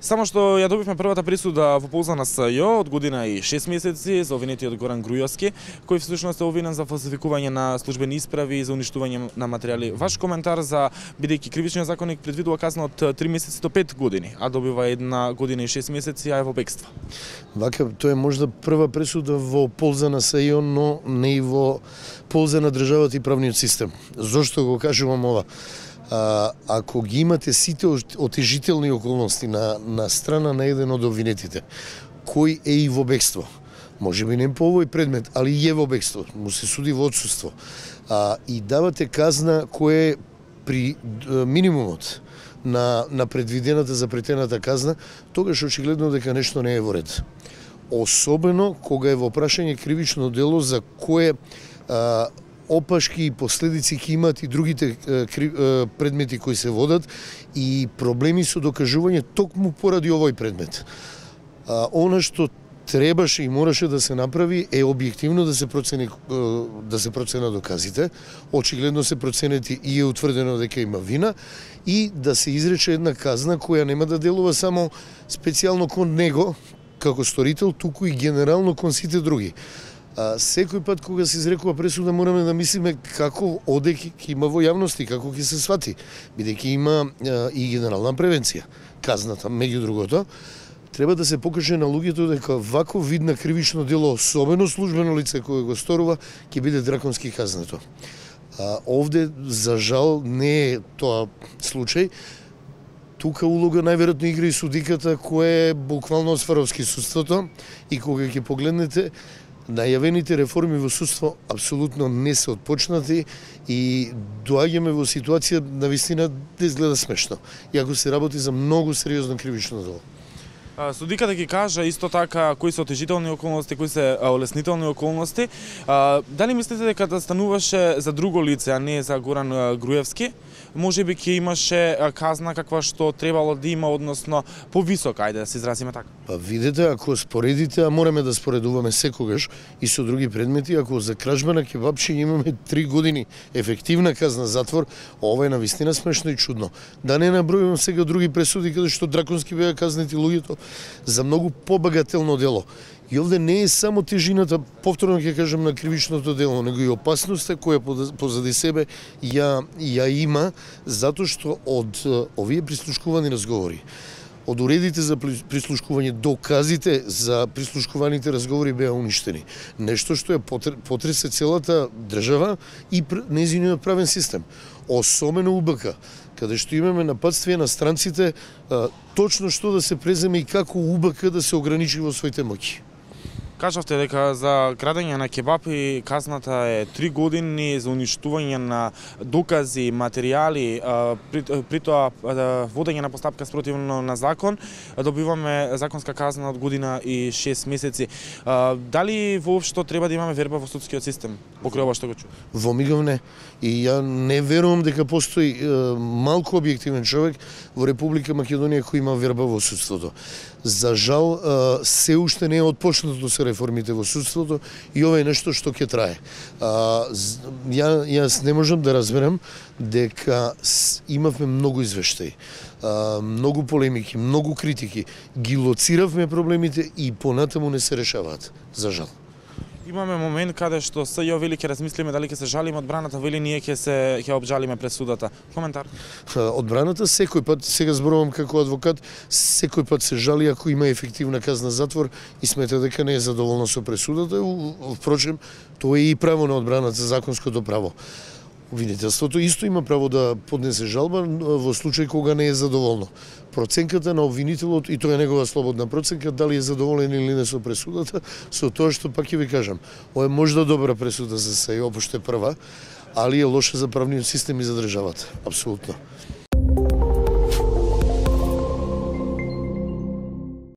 Само што ја добивме првата присуда во полза на СЈО од година и 6 месеци за обвинетиот Горан Грујовски, кој всушност е обвинен за фалсификување на службени исправи и за уништување на материјали. Ваш коментар за бидејќи кривичниот законник предвидува казна од 3 месеци до 5 години, а добива 1 година и 6 месеци, а е во бегство. Вака, тоа е можда прва пресуда во полза на СЈО, но не и во полза на државата и правниот систем. Зошто го кажувам ова? Ако ги имате сите отежителни околности на страна на еден од обвинетите, кој е и во бегство, може би не по овој предмет, али е во бегство, му се суди во отсуство, и давате казна која е при минимумот на предвидената запретената казна, тогаш очигледно дека нешто не е во ред. Особено кога е во прашање кривично дело за кое опашки и последици ќе имаат и другите предмети кои се водат и проблеми со докажување токму поради овој предмет. Она што требаше и мораше да се направи е објективно да се проценат доказите, очигледно се проценети и е утврдено дека има вина и да се изрече една казна која нема да делува само специјално кон него како сторител, туку и генерално кон сите други. Секој пат кога се изрекува пресуда мораме да мислиме како оде ќе има во јавности, како ќе се свати, бидејќи има и генерална превенција. Казната, меѓу другото, треба да се покаже на луѓето дека ваков вид на кривично дело, особено службено лице кое го сторува, ќе биде драконски казнато. Овде, за жал, не е тоа случај. Тука улога најверојатно игра и судиката која е буквално од Сваровски судството и кога ќе погледнете најавените реформи во судство апсолутно не се отпочнати и доаѓаме во ситуација навистина да изгледа смешно, иако се работи за многу сериозно кривично дело. Судиката ги кажа исто така кои се отежителни околности, кои се олеснителни околности. Дали мислите дека да стануваше за друго лице, а не за Горан Грујовски, може би ќе имаше казна каква што требало да има, односно повисока, ајде да се изразиме така? Видете, ако споредите, а мораме да споредуваме секогаш и со други предмети, ако за кражба на кебапчи имаме 3 години ефективна казна затвор, ова е навистина смешно и чудно. Да не набројувам сега други пресуди каде што драконски беа казнети луѓето за многу побагателно дело. И овде не е само тежината, повторно ќе кажам, на кривичното дело, него и опасноста која позади себе ја има, затоа што од овие прислушкувани разговори, од уредите за прислушкување, доказите за прислушкуваните разговори беа уништени. Нешто што потресе целата држава и нејзиниот правен систем. Особено УБК, каде што имаме нападствие на странците, точно што да се преземе и како УБК да се ограничи во своите моќи. Кажавте дека за крадење на кебапи казната е 3 години за уништување на докази, материјали, при тоа водење на постапка спротивно на закон, добиваме законска казна од година и 6 месеци. Дали воопшто треба да имаме верба во судскиот систем, покрај ова што го чув? Во мигов не. И ја не верувам дека постои малку објективен човек во Република Македонија кој има верба во судството. За жал, се уште не е отпочнато се реформите во судството и ова е нешто што ќе трае. Јас не можам да разберам дека имавме многу извештаи, многу полемики, многу критики, ги лоциравме проблемите и понатаму не се решаваат, за жал. Имаме момент каде што СЈО вели ќе размислиме дали ќе се жалиме, одбраната вели ние ќе обжалиме пресудата. Коментар? Одбраната секој пат, сега зборувам како адвокат, секој пат се жали ако има ефективна казна затвор и смета дека не е задоволна со пресудата. Впрочем, тоа е и право на одбраната, законското право. Обвинителството исто има право да поднесе жалба во случај кога не е задоволно. Проценката на обвинителот, и тоа е негова слободна проценка, дали е задоволен или не со пресудата, со тоа што пак ќе ви кажам, ова е можда добра пресуда за СЈО, пошто е прва, али е лоша за правниот систем и за државата, апсолутно.